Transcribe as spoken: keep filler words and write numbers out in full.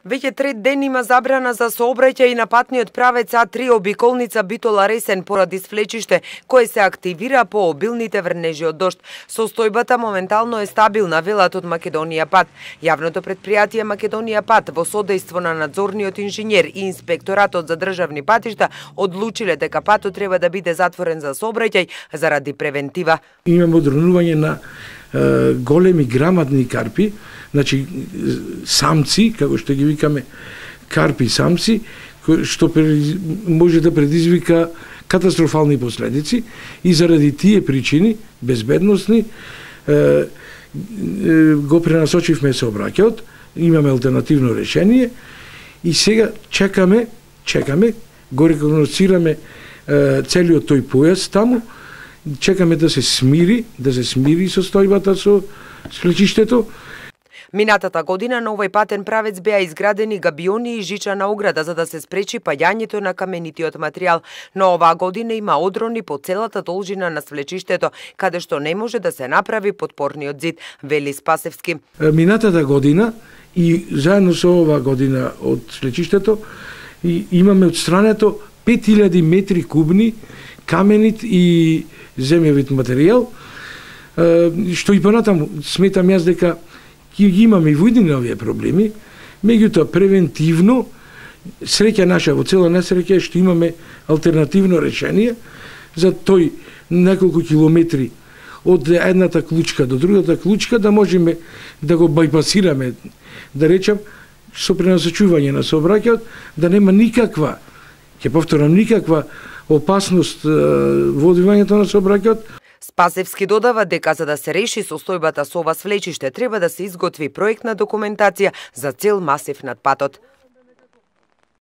Веќе трет ден има забрана за сообраќај на патниот правец А три обиколница Битола Ресен поради свлечиште кое се активира по обилните врнежи од дожд. Состојбата моментално е стабилна, велат од Македонија пат. Јавното претпријатие Македонија пат во содејство на надзорниот инженер и инспекторатот за државни патишта одлучиле дека патот треба да биде затворен за сообраќај заради превентива. Имаме одронување на е, големи грамадни карпи, значи самци, како што ги викаме карпи самци, што може да предизвика катастрофални последици и заради тие причини, безбедносни, го пренасочивме сообраќајот, имаме алтернативно решение и сега чекаме, чекаме, го рекогносцираме целиот тој појас таму, чекаме да се смири, да се смири состојбата со свлечиштето. Минатата година на овој патен правец беа изградени габиони и жичана ограда за да се спречи паѓањето на каменитиот материјал, но оваа година има одрони по целата должина на свлечиштето, каде што не може да се направи подпорниот зид, вели Спасевски. Минатата година и заедно со оваа година од свлечиштето имаме отстрането пет илјади метри кубни каменит и земјовит материјал, што и понатаму сметам јас дека ќе ги имаме и во иднина овие проблеми, меѓутоа превентивно, среќа наша во цела несреќа е што имаме алтернативно решение за тој неколку километри од едната клучка до другата клучка да можеме да го бајпасираме, да речам, со пренасочување на сообраќајот, да нема никаква, ќе повторам, никаква опасност во одвивањето на сообраќајот. Спасевски додава дека за да се реши состојбата со ова свлечиште треба да се изготви проектна документација за цел масив над патот.